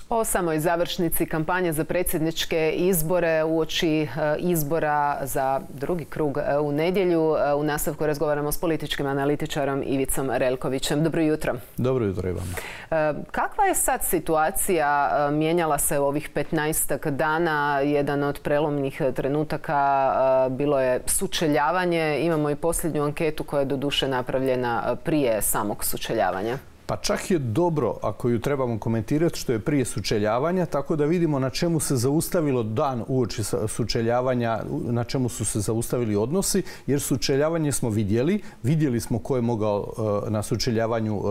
O samoj završnici kampanje za predsjedničke izbore uoči izbora za drugi krug u nedjelju. U nastavku razgovaramo s političkim analitičarom Ivicom Relkovićem. Dobro jutro. Dobro jutro i vama. Kakva je sad situacija? Mijenjala se u ovih 15 dana. Jedan od prelomnih trenutaka bilo je sučeljavanje. Imamo i posljednju anketu koja je doduše napravljena prije samog sučeljavanja. Pa čak je dobro, ako ju trebamo komentirati, što je prije sučeljavanja, tako da vidimo na čemu se zaustavilo dan uoči sučeljavanja, na čemu su se zaustavili odnosi, jer sučeljavanje smo vidjeli smo ko je mogao na sučeljavanju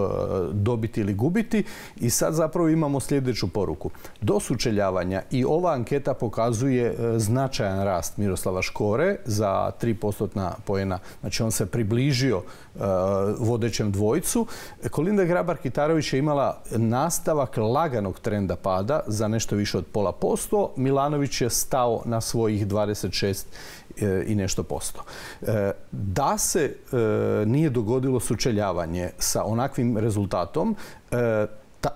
dobiti ili gubiti i sad zapravo imamo sljedeću poruku. Do sučeljavanja i ova anketa pokazuje značajan rast Miroslava Škore za 3% poena. Znači on se približio vodećem dvojcu. Kolinda Grabar-Kitarović je imala nastavak laganog trenda pada za nešto više od 0,5%. Milanović je stao na svojih 26 i nešto posto. Da se nije dogodilo sučeljavanje sa onakvim rezultatom,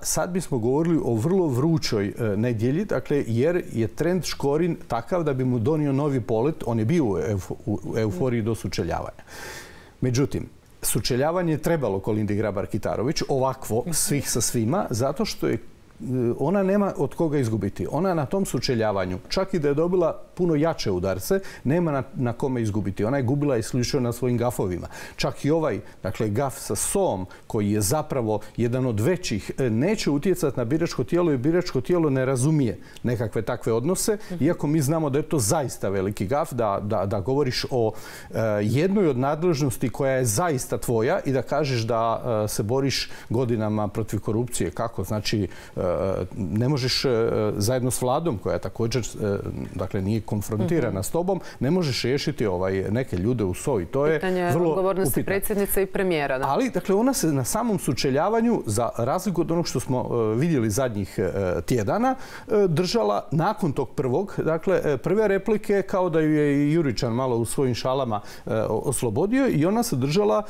sad bismo govorili o vrlo vrućoj nedjelji, dakle, jer je trend Škorin takav da bi mu donio novi polet. On je bio u euforiji do sučeljavanja. Međutim, sučeljavanje je trebalo Kolindi Grabar-Kitarović, ovakvo, svih sa svima, zato što je ona nema od koga izgubiti. Ona na tom sučeljavanju, čak i da je dobila puno jače udarce, nema na kome izgubiti. Ona je gubila isključivo na svojim gafovima. Čak i ovaj, dakle, gaf sa SOM, koji je zapravo jedan od većih, neće utjecati na biračko tijelo i biračko tijelo ne razumije nekakve takve odnose, iako mi znamo da je to zaista veliki gaf, da govoriš o jednoj od nadležnosti koja je zaista tvoja i da kažeš da se boriš godinama protiv korupcije. Kako? Znači, ne možeš zajedno s vladom, koja također dakle, nije konfrontirana s tobom, ne možeš riješiti neke ljude u SOI. To je vrlo odgovornosti predsjednice i premijera. Da. Ali, dakle, ona se na samom sučeljavanju, za razliku od onog što smo vidjeli zadnjih tjedana, držala nakon tog prvog. Dakle, prve replike kao da ju je i Juričan malo u svojim šalama oslobodio i ona se držala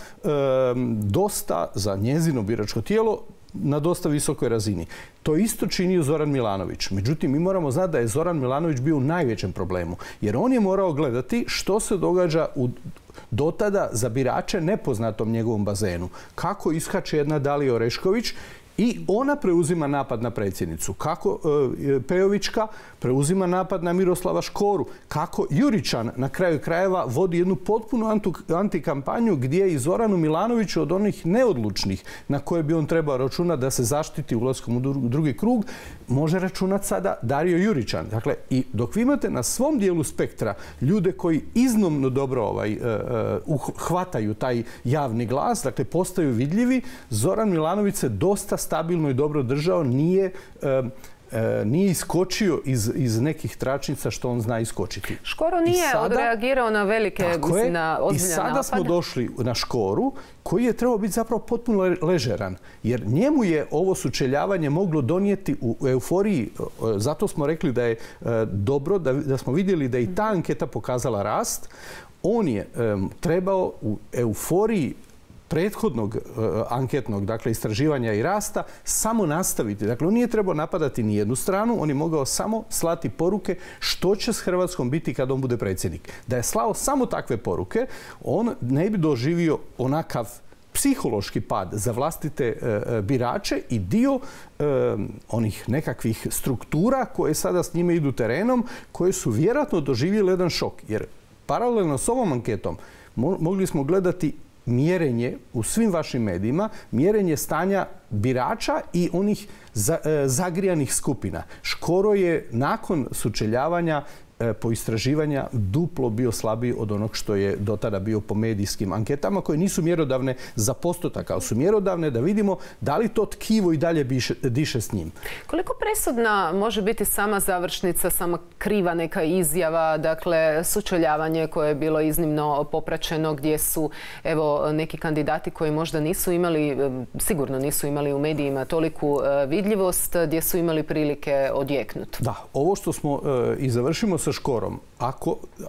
dosta za njezino biračko tijelo na dosta visokoj razini. To isto činio Zoran Milanović. Međutim, mi moramo znati da je Zoran Milanović bio u najvećem problemu. Jer on je morao gledati što se događa do tada za birače nepoznatom njegovom bazenu. Kako iskače jedna Dalija Orešković i ona preuzima napad na predsjednicu. Kako Pejovićka preuzima napad na Miroslava Škoru. Kako Juričan na kraju krajeva vodi jednu potpunu antikampanju gdje je i Zoranu Milanoviću od onih neodlučnih na koje bi on trebao računati da se zaštiti ulaskom u drugi krug, može računati sada Dario Juričan. Dakle, i dok vi imate na svom dijelu spektra ljude koji iznimno dobro hvataju taj javni glas, dakle postaju vidljivi, Zoran Milanović se dosta stabilno i dobro držao, nije iskočio iz nekih tračnica što on zna iskočiti. Škoro nije odreagirao na velike, na ozbiljne napade. I sada smo došli na Škoru, koji je trebao biti zapravo potpuno ležeran. Jer njemu je ovo sučeljavanje moglo donijeti u euforiji. Zato smo rekli da je dobro, da smo vidjeli da i ta anketa pokazala rast. On je trebao u euforiji prethodnog anketnog, dakle, istraživanja i rasta, samo nastaviti. Dakle, on nije trebao napadati ni jednu stranu, on je mogao samo slati poruke što će s Hrvatskom biti kad on bude predsjednik. Da je slao samo takve poruke, on ne bi doživio onakav psihološki pad za vlastite birače i dio onih nekakvih struktura koje sada s njime idu terenom, koje su vjerojatno doživjeli jedan šok. Jer paralelno s ovom anketom mogli smo gledati mjerenje u svim vašim medijima, mjerenje stanja birača i onih zagrijanih skupina. Škoro je nakon sučeljavanja po istraživanja duplo bio slabiji od onog što je do tada bio po medijskim anketama, koje nisu mjerodavne za postotak, ali su mjerodavne da vidimo da li to tkivo i dalje diše s njim. Koliko presudna može biti sama završnica, sama kriva neka izjava, dakle sučeljavanje koje je bilo iznimno popraćeno, gdje su evo neki kandidati koji možda nisu imali, sigurno nisu imali u medijima toliku vidljivost, gdje su imali prilike odjeknuti. Da, ovo što smo i završimo s sa Škorom.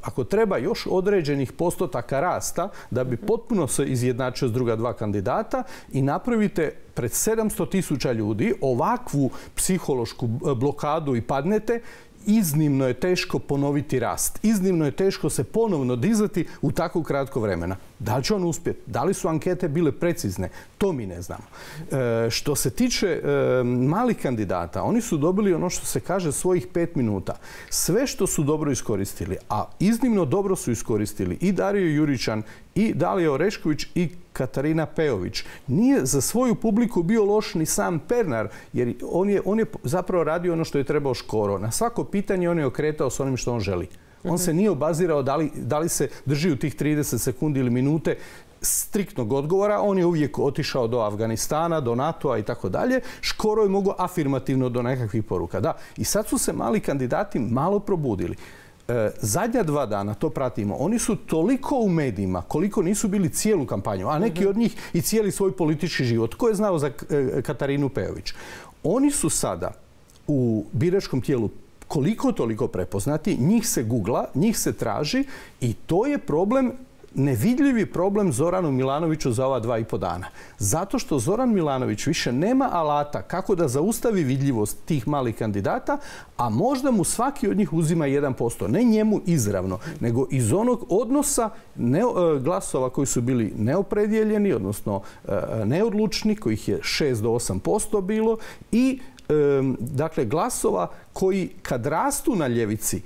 Ako treba još određenih postotaka rasta da bi potpuno se izjednačio s druga dva kandidata i napravite pred 700.000 ljudi ovakvu psihološku blokadu i padnete, iznimno je teško ponoviti rast. Iznimno je teško se ponovno dizati u tako kratko vremena. Da li će on uspjeti? Da li su ankete bile precizne? To mi ne znamo. Što se tiče malih kandidata, oni su dobili ono što se kaže svojih 5 minuta. Sve što su dobro iskoristili, a iznimno dobro su iskoristili i Dario Juričan, i Dalija Orešković, i Katarina Peović. Nije za svoju publiku bio loš ni sam Pernar, jer on je zapravo radio ono što je trebao Škoro. Na svako pitanje on je okretao s onim što on želi. On se nije obazirao da li se drži u tih 30 sekundi ili minute striktnog odgovora. On je uvijek otišao do Afganistana, do NATO-a i tako dalje. Škoro je mogao afirmativno do nekakvih poruka. Da. I sad su se mali kandidati malo probudili. Zadnja 2 dana, to pratimo, oni su toliko u medijima koliko nisu bili cijelu kampanju, a neki od njih i cijeli svoj politički život. Ko je znao za Katarinu Peović? Oni su sada u biračkom tijelu koliko toliko prepoznati, njih se googla, njih se traži i to je problem, nevidljivi problem Zoranu Milanoviću za ova 2,5 dana. Zato što Zoran Milanović više nema alata kako da zaustavi vidljivost tih malih kandidata, a možda mu svaki od njih uzima 1%. Ne njemu izravno, nego iz onog odnosa glasova koji su bili neopredijeljeni, odnosno neodlučni, kojih je 6 do 8% bilo, i dakle glasova koji kad rastu na ljevici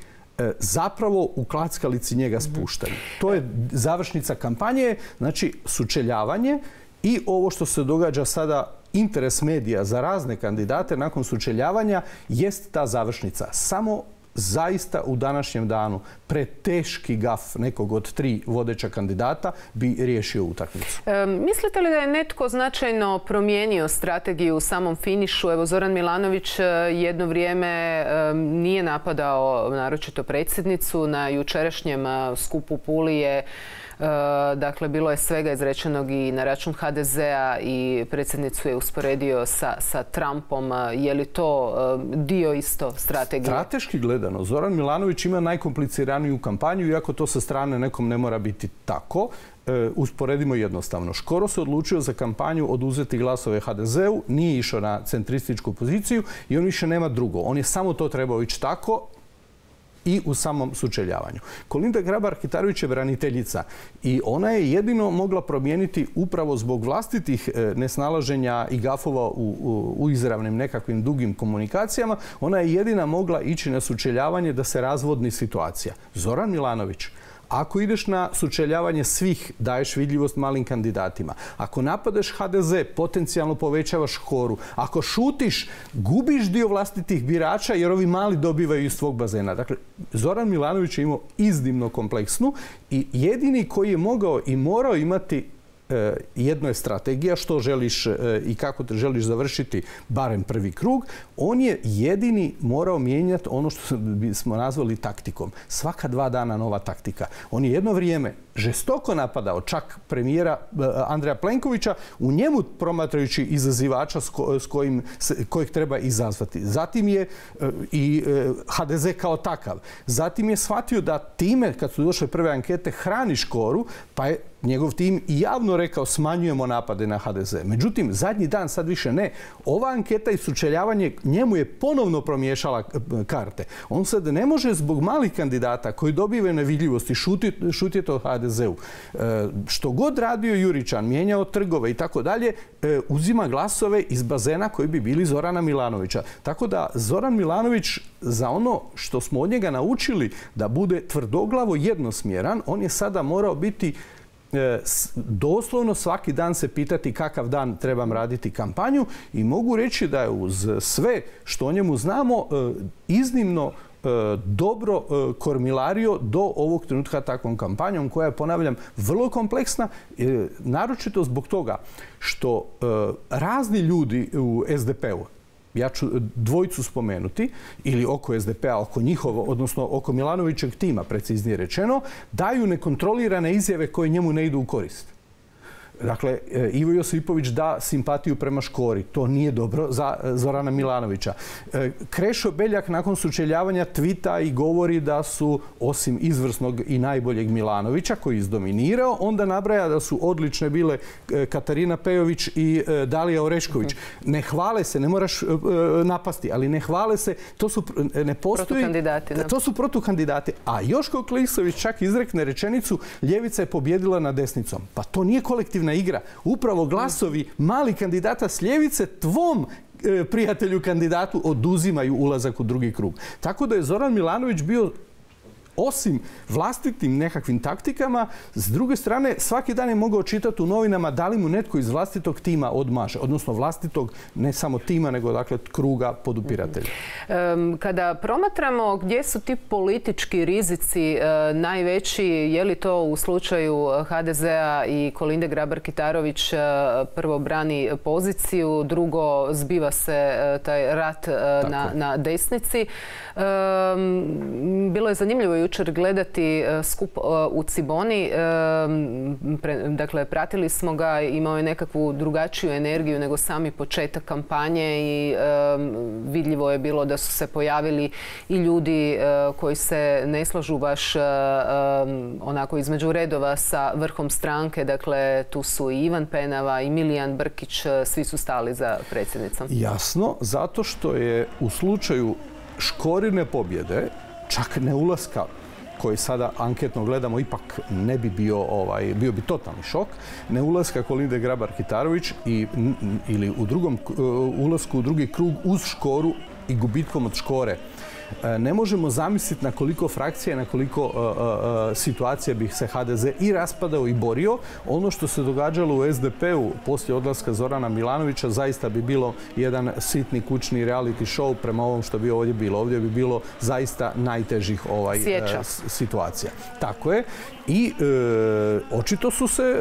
zapravo u klackalici njega spuštaju. To je završnica kampanje, znači sučeljavanje i ovo što se događa sada, interes medija za razne kandidate nakon sučeljavanja, jest ta završnica. Samo zaista u današnjem danu preteški gaf nekog od 3 vodeća kandidata bi riješio utakmicu. Mislite li da je netko značajno promijenio strategiju u samom finišu? Evo, Zoran Milanović jedno vrijeme nije napadao naročito predsjednicu. Na jučerašnjem skupu u Puli je dakle, bilo je svega izrečenog i na račun HDZ-a i predsjednicu je usporedio sa Trumpom. Je li to dio isto strategije? Strateški gledano, Zoran Milanović ima najkompliciraniju kampanju, iako to sa strane nekom ne mora biti tako. Usporedimo jednostavno. Škoro se odlučio za kampanju oduzeti glasove HDZ-u, nije išao na centrističku poziciju i on više nema drugo. On je samo to trebao ići tako i u samom sučeljavanju. Kolinda Grabar-Kitarović je braniteljica i ona je jedino mogla promijeniti upravo zbog vlastitih nesnalaženja i gafova u izravnim nekakvim dugim komunikacijama. Ona je jedina mogla ići na sučeljavanje da se razvodni situacija. Zoran Milanović, ako ideš na sučeljavanje svih, daješ vidljivost malim kandidatima. Ako napadaš HDZ, potencijalno povećavaš Škoru. Ako šutiš, gubiš dio vlastitih birača jer ovi mali dobivaju iz tvog bazena. Dakle, Zoran Milanović je imao iznimno kompleksnu i jedini koji je mogao i morao imati jedno je strategija što želiš i kako te želiš završiti barem prvi krug. On je jedini morao mijenjati ono što bismo nazvali taktikom. Svaka 2 dana nova taktika. On je jedno vrijeme žestoko napadao čak premijera Andreja Plenkovića, u njemu promatrajući izazivača kojeg treba izazvati. Zatim je i HDZ kao takav. Zatim je shvatio da time, kad su došle prve ankete, hrani Škoru, pa je njegov tim i javno rekao smanjujemo napade na HDZ. Međutim, zadnji dan sad više ne.Ova anketa i sučeljavanje njemu je ponovno promiješala karte. On sad ne može zbog malih kandidata koji dobivaju nevidljivosti šutiti o HDZ-u. Što god radio Juričan, mijenjao trgove i tako dalje, uzima glasove iz bazena koji bi bili Zorana Milanovića. Tako da Zoran Milanović za ono što smo od njega naučili da bude tvrdoglavo jednosmjeran, on je sada morao biti doslovno svaki dan se pitati kakav dan trebam raditi kampanju i mogu reći da je uz sve što o njemu znamo iznimno dobro kormilario do ovog trenutka takvom kampanjom koja je, ponavljam, vrlo kompleksna, naročito zbog toga što razni ljudi u SDP-u, ja ću dvojicu spomenuti, ili oko SDP-a, oko njihovo, odnosno oko Milanovićeg tima, preciznije rečeno, daju nekontrolirane izjave koje njemu ne idu u korist. Dakle, Ivo Josipović da simpatiju prema Škori. To nije dobro za Zorana Milanovića. Krešo Beljak nakon sučeljavanja tvita i govori da su, osim izvrsnog i najboljeg Milanovića, koji je izdominirao, onda nabraja da su odlične bile Katarina Pejović i Dalija Orešković. Ne hvale se, ne moraš napasti, ali ne hvale se, to su ne postoji... To su protukandidati. A Joško Klisović čak izrekne rečenicu: ljevica je pobjedila nad desnicom. Pa to nije kolektivna igra. Upravo glasovi malih kandidata s ljevice tvom prijatelju kandidatu oduzimaju ulazak u drugi krug. Tako da je Zoran Milanović bio, osim vlastitim nekakvim taktikama, s druge strane svaki dan je mogao čitati u novinama da li mu netko iz vlastitog tima odmaže, odnosno vlastitog ne samo tima, nego dakle kruga podupiratelja. Kada promatramo gdje su ti politički rizici najveći, je li to u slučaju HDZ-a i Kolinde Grabar-Kitarović, prvo brani poziciju, drugo zbiva se taj rat na desnici. Bilo je zanimljivo jučer gledati skup u Ciboni. Dakle, pratili smo ga, imao je nekakvu drugačiju energiju nego sami početak kampanje i vidljivo je bilo da su se pojavili i ljudi koji se ne slažu baš onako između redova sa vrhom stranke. Dakle, tu su i Ivan Penava i Milijan Brkić, svi su stali za predsjednicom. Jasno, zato što je u slučaju Škorine pobjede, čak ne ulaska, koji sada anketno gledamo, ipak ne bi bio bi totalni šok, ne ulaska Kolinde Grabar-Kitarović ili u drugom ulasku u drugi krug uz Škoru i gubitkom od Škore. Ne možemo zamisliti na koliko frakcija, na koliko situacija bi se HDZ i raspadao i borio. Ono što se događalo u SDP-u poslije odlaska Zorana Milanovića zaista bi bilo jedan sitni kućni reality show prema ovom što bi ovdje bilo. Ovdje bi bilo zaista najtežih situacija. Tako je. I očito su se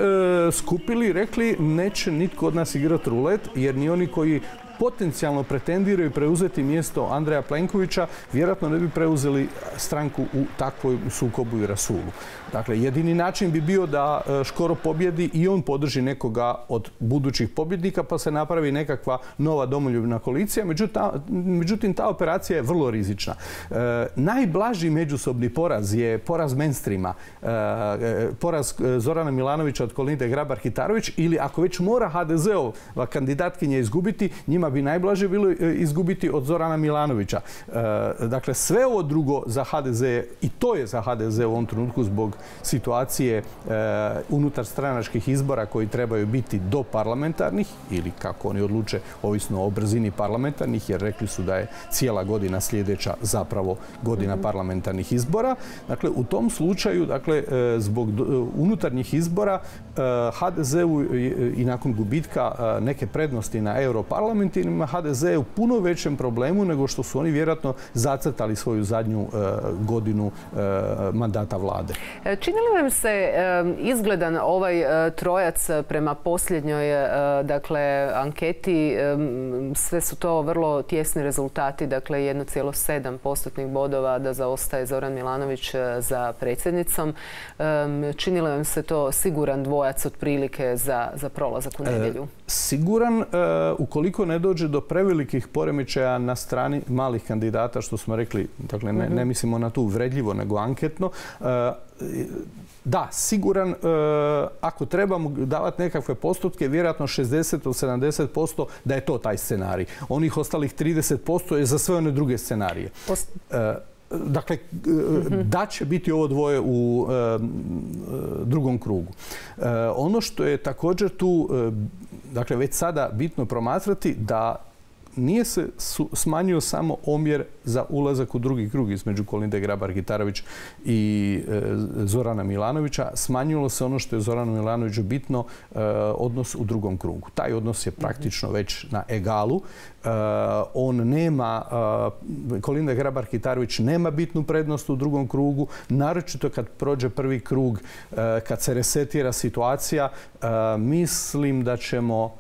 skupili i rekli neće nitko od nas igrati rulet, jer ni oni koji potencijalno pretendiraju preuzeti mjesto Andreja Plenkovića, vjerojatno ne bi preuzeli stranku u takvoj sukobu i rasulu. Dakle, jedini način bi bio da Škoro pobjedi i on podrži nekoga od budućih pobjednika, pa se napravi nekakva nova domoljubna koalicija. Međutim, ta operacija je vrlo rizična. Najblaži međusobni poraz je poraz mainstreama, poraz Zorana Milanovića od Kolinde Grabar-Kitarović, ili ako već mora HDZ-ova kandidatkinja izgubiti, njima bi najblaže bilo izgubiti od Zorana Milanovića. Dakle, sve ovo drugo za HDZ, i to je za HDZ u ovom trenutku zbog situacije unutar stranačkih izbora koji trebaju biti do parlamentarnih, ili kako oni odluče, ovisno o brzini parlamentarnih, jer rekli su da je cijela godina sljedeća zapravo godina parlamentarnih izbora. Dakle, u tom slučaju, dakle, zbog unutarnjih izbora HDZ-u i nakon gubitka neke prednosti na europarlamentima, HDZ je u puno većem problemu nego što su oni vjerojatno zacrtali svoju zadnju godinu mandata vlade. Čini li vam se izgledan ovaj trojac prema posljednjoj anketi? Sve su to vrlo tjesni rezultati, dakle 1,7% bodova da zaostaje Zoran Milanović za predsjednicom. Čini li vam se to siguran dvojac otprilike za prolazak u nedjelju? Siguran ukoliko ne dođe do prevelikih poremećaja na strani malih kandidata, što smo rekli, dakle ne mislimo na tu uvredljivo nego anketno. Da, siguran, ako trebamo davati nekakve postotke, vjerojatno 60 do 70% da je to taj scenarij. Onih ostalih 30% je za sve one druge scenarije. Dakle, da će biti ovo dvoje u drugom krugu. Ono što je također tu, dakle, već sada bitno promatrati da nije se smanjio samo omjer za ulazak u drugi krug između Kolinde Grabar-Kitarović i Zorana Milanovića. Smanjilo se ono što je Zoranu Milanoviću bitno, odnos u drugom krugu. Taj odnos je praktično već na egalu. On nema, Kolinda Grabar-Kitarović nema bitnu prednost u drugom krugu, naročito kad prođe prvi krug, kad se resetira situacija. Mislim da ćemo,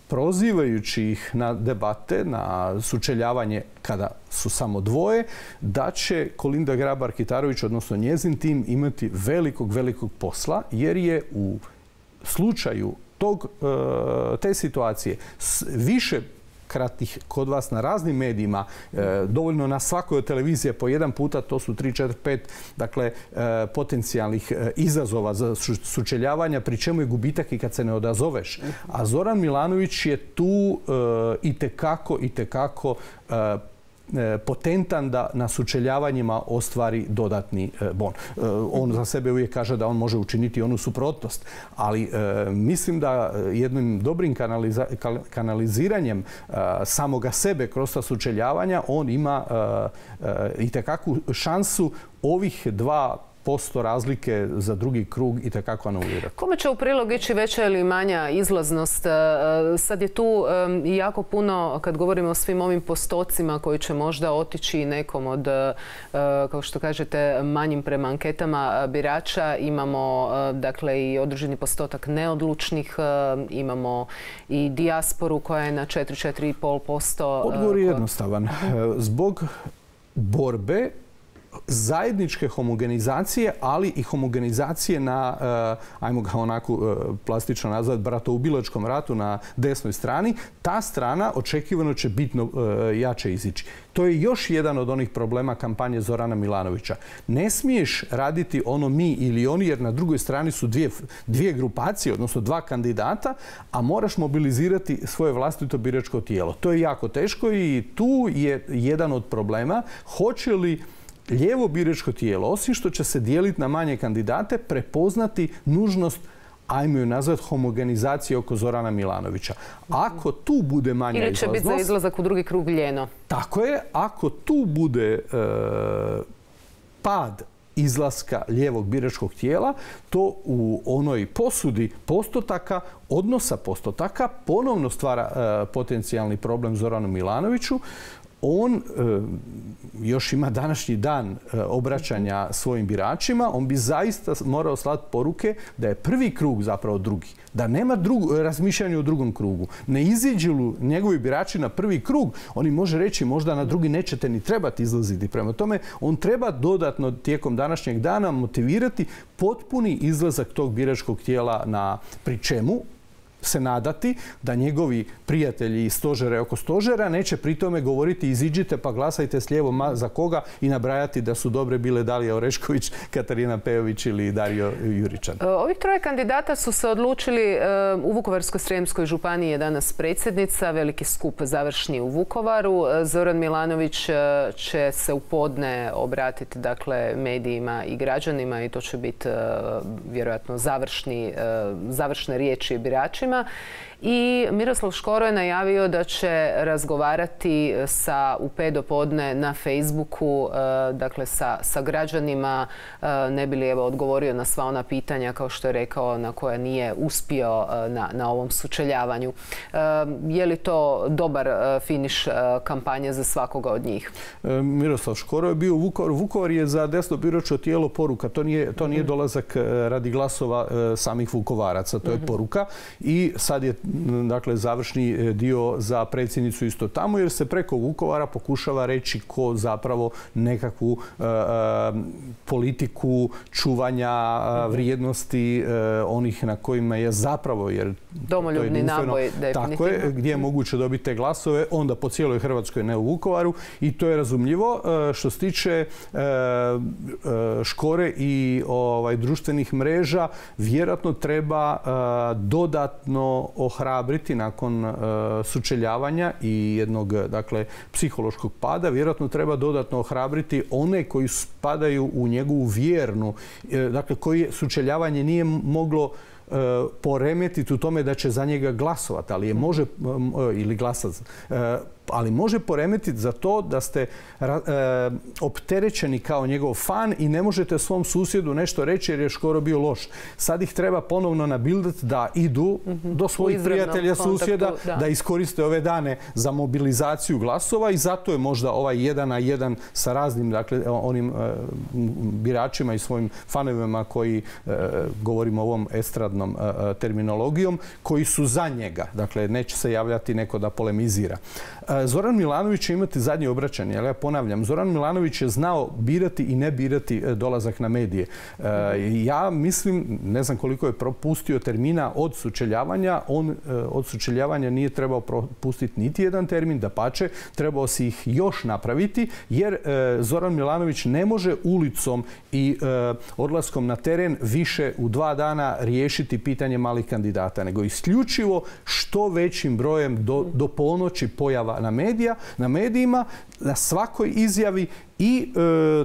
prozivajući ih na debate, na sučeljavanje kada su samo dvoje, da će Kolinda Grabar-Kitarović, odnosno njezin tim, imati velikog posla, jer je u slučaju te situacije više kratih kod vas na raznim medijima, dovoljno na svakoj televiziji po jedan puta, to su 3, 4, 5 dakle, potencijalnih izazova za sučeljavanja, pri čemu je gubitak i kad se ne odazoveš. A Zoran Milanović je tu itekako potentan da na sučeljavanjima ostvari dodatni bon. On za sebe uvijek kaže da on može učiniti onu suprotnost, ali mislim da jednim dobrim kanaliziranjem samoga sebe kroz ta sučeljavanja on ima itekakvu šansu ovih 2% razlike za drugi krug itekako anulirati. Kome će u prilog ići veća ili manja izlaznost? Sad je tu jako puno, kad govorimo o svim ovim postocima koji će možda otići nekom od, kao što kažete, manjim prema anketama birača, imamo dakle i određeni postotak neodlučnih, imamo i dijasporu koja je na 4,5%. Odgovor je jednostavan. Zbog borbe zajedničke homogenizacije, ali i homogenizacije na, ajmo ga onako plastično nazvati, bratoubilačkom ratu na desnoj strani, ta strana očekivano će bitno jače izići. To je još jedan od onih problema kampanje Zorana Milanovića. Ne smiješ raditi ono mi ili oni, jer na drugoj strani su dvije grupacije, odnosno 2 kandidata, a moraš mobilizirati svoje vlastito biračko tijelo. To je jako teško i tu je jedan od problema. Hoće li lijevo biračko tijelo, osim što će se dijeliti na manje kandidate, prepoznati nužnost, ajmo ju nazvati, homogenizacije oko Zorana Milanovića. Ako tu bude manja izlaznost... Ili će biti za izlazak u drugi krug ljeno. Tako je. Ako tu bude pad izlaska lijevog biračkog tijela, to u onoj posudi postotaka, odnosa postotaka, ponovno stvara potencijalni problem Zoranu Milanoviću. On još ima današnji dan obraćanja svojim biračima, on bi zaista morao slati poruke da je prvi krug zapravo drugi. Da nema razmišljanja o drugom krugu. Ne iziđu njegovi birači na prvi krug, oni može reći možda na drugi nećete ni trebati izlaziti. Prema tome, on treba dodatno tijekom današnjeg dana motivirati potpuni izlazak tog biračkog tijela pri čemu se nadati da njegovi prijatelji iz stožera i oko stožera neće pri tome govoriti iziđite pa glasajte s lijevo za koga i nabrajati da su dobre bile Dalija Orešković, Katarina Pejović ili Dario Juričan. Ovih 3 kandidata su se odlučili u Vukovarsko-srijemskoj županiji je danas predsjednica, veliki skup završni u Vukovaru. Zoran Milanović će se u podne obratiti dakle medijima i građanima i to će biti vjerojatno završne riječi biračima. I Miroslav Škoro je najavio da će razgovarati u 5 do podne na Facebooku, dakle sa građanima, ne bi li odgovorio na sva ona pitanja, kao što je rekao, na koja nije uspio na ovom sučeljavanju. Je li to dobar finiš kampanje za svakoga od njih? Miroslav Škoro je bio u Vukovaru. Vukovar je za desno biračko tijelo poruka. To nije dolazak radi glasova samih Vukovaraca. To je poruka. I sad je dakle završni dio za predsjednicu isto tamo, jer se preko Vukovara pokušava reći ko zapravo nekakvu politiku čuvanja vrijednosti onih na kojima je zapravo, jer domoljubni naboj definitivno. Tako je, gdje je moguće dobiti te glasove, onda po cijeloj Hrvatskoj, ne u Vukovaru, i to je razumljivo. Što se tiče Škore i društvenih mreža, vjerojatno treba dodatno ohrabriti nakon sučeljavanja i jednog dakle psihološkog pada, vjerojatno treba dodatno ohrabriti one koji spadaju u njegovu vjernu, dakle koji sučeljavanje nije moglo poremetiti u tome da će za njega glasovati, ali može ili glasati, ali može poremetiti za to da ste opterećeni kao njegov fan i ne možete svom susjedu nešto reći jer je Škoro bio loš. Sad ih treba ponovno nabildati da idu do svojih prijatelja, susjeda, da iskoriste ove dane za mobilizaciju glasova i zato je možda ovaj 1 na 1 sa raznim, dakle, onim biračima i svojim fanovima koji, govorimo ovom estradnom terminologijom, koji su za njega. Dakle, neće se javljati neko da polemizira. Zoran Milanović će imati zadnje obraćanje, ali ja ponavljam, Zoran Milanović je znao birati i ne birati dolazak na medije. Ja mislim, ne znam koliko je propustio termina od sučeljavanja, on od sučeljavanja nije trebao propustiti niti jedan termin, dapače, trebao si ih još napraviti, jer Zoran Milanović ne može ulicom i odlaskom na teren više u 2 dana riješiti pitanje malih kandidata, nego isključivo što većim brojem do ponoći pojava na medijima, na svakoj izjavi i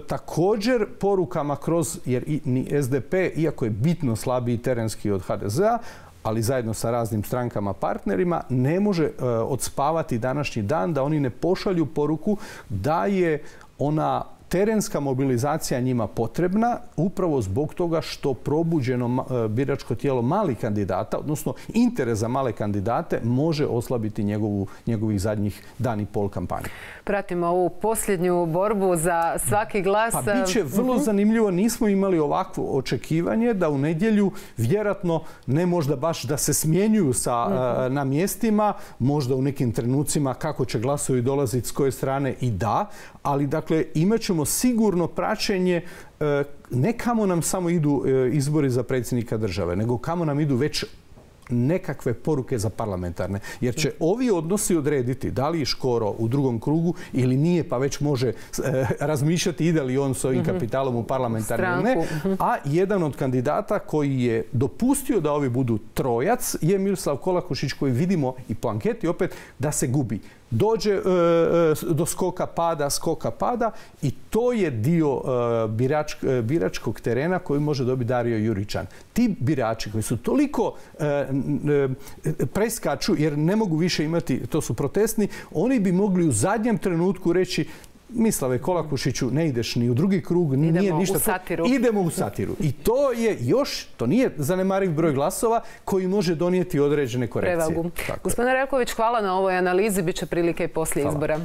također porukama kroz, jer ni SDP, iako je bitno slabiji terenski od HDZ-a, ali zajedno sa raznim strankama partnerima, ne može odspavati današnji dan da oni ne pošalju poruku da je ona terenska mobilizacija njima potrebna upravo zbog toga što probuđeno biračko tijelo malih kandidata, odnosno interes za male kandidate, može oslabiti njegovih zadnjih dan i pol kampanje. Pratimo ovu posljednju borbu za svaki glas. Pa bit će vrlo zanimljivo. Nismo imali ovakvo očekivanje da u nedjelju vjerojatno ne možda baš da se smjenjuju na mjestima, možda u nekim trenucima kako će glasovi dolaziti s koje strane i da, ali dakle imat ćemo sigurno praćenje ne kamo nam samo idu izbori za predsjednika države, nego kamo nam idu već nekakve poruke za parlamentarne. Jer će ovi odnosi odrediti da li je Škoro u drugom krugu ili nije, pa već može razmišljati ide li on s ovim kapitalom u parlamentarne ili ne. A jedan od kandidata koji je dopustio da ovi budu trojac je Miroslav Kolakušić, koji vidimo i po anketi opet da se gubi. Dođe do skoka pada i to je dio biračkog terena koji može dobiti Dario Juričan. Ti birači koji su toliko preskaču jer ne mogu više imati, to su protestni, oni bi mogli u zadnjem trenutku reći Mislave Kolakušiću, ne ideš ni u drugi krug, nije ništa. Idemo u satiru. I to je još, to nije zanemariv broj glasova koji može donijeti određene korekcije. Gospodine Relković, hvala na ovoj analizi, bit će prilike i poslije izbora.